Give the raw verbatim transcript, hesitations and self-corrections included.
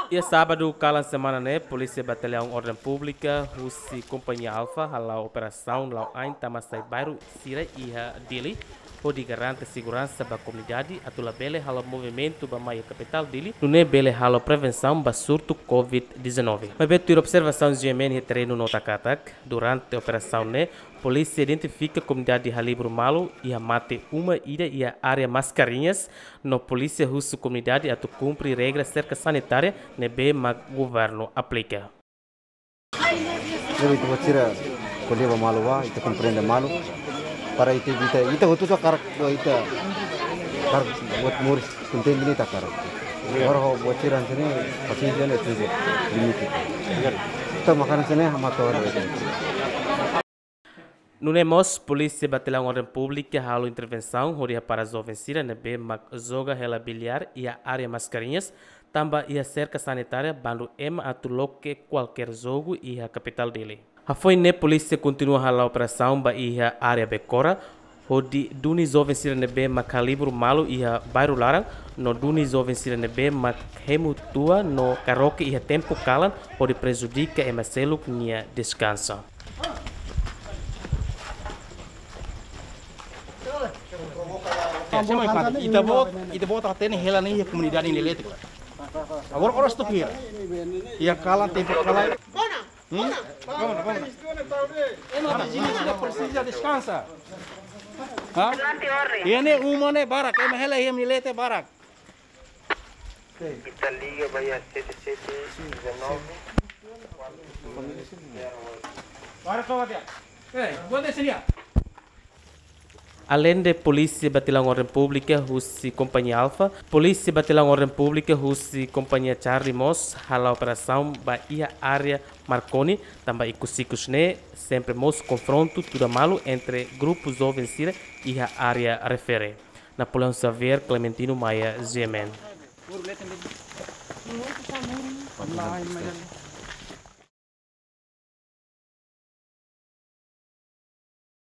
Iha sábadu kalan semana ne'e, Polísia Bataliaun Orden Públika husi Kompañia Alfa hala'o operasaun la'o ain tama sai bairru sira iha Dili, hodi garante seguransa ba komunidade atu labele halo movimentu ba mai iha kapitál Dili, nune'e bele halo prevensaun ba surtu covid dezanove. Maibé tuir observasaun G M N iha terrenu nota katak, durante operasaun ne'e, polísia identifika komunidade halibur malu iha mate uma ida iha área Mascarenhas, no polísia husu komunidade atu kumpre regra serka sanitária ne'ebé mak governu aplika. Jadi ita-boot sira ko'alia ba malu ba, ita komprende malu. Para ita, ita, ita hotu só hakarak, ita hakarak buat moris, kontente ne'e ita hakarak. Agora ho buat sira hanesan ne'e, pasiénsia ne'e tenke limite. Ita makanan hanesan ne'e, hamato. Nune'e mós, Polísia Bataliaun Orden Públika halo intervensaun hodi hapara joven sira ne'ebé mak joga hela biliar iha área Mascarenhas, tanba iha serka sanitária bandu ema atu loke kualkér jogu iha kapitál Dili. Hafoin ne'e polísia kontinua hala'o operasaun ba iha área Becora, hodi duni joven sira ne'ebé mak halibur malu iha bairru laran, no duni joven sira ne'ebé mak hemu tua no karaoke iha tempu kalan, hodi prejudika ema seluk nia deskansa. Ya, sema ikan. Ita-boot, ita-boot hatene hela ne'e iha komunidade ne'e leten. Agora oras tu kira. Iha kalan, tempu kalan. Hmm? Vamos, vamos. Ema viziñu sira presiza deskansa. Ha? Iha ne'e uma ne'e barak, ema hela iha ne'e leten barak. Ita liga ba iha sete sete dezanove. Para kau dia. Eh, buat dia sini ya. Aleinde Polísia Bataliaun Orden Públika husi Kompañia Alfa, Polísia Bataliaun Orden Públika husi Kompañia Charlie mós hala'o operasaun ba iha área Marconi, tanba ikus-ikus ne'e sempre mós konfrontu tuda malu entre grupu joven sira iha área refere. Napoleão Xavier, Clementino Maia, G M N.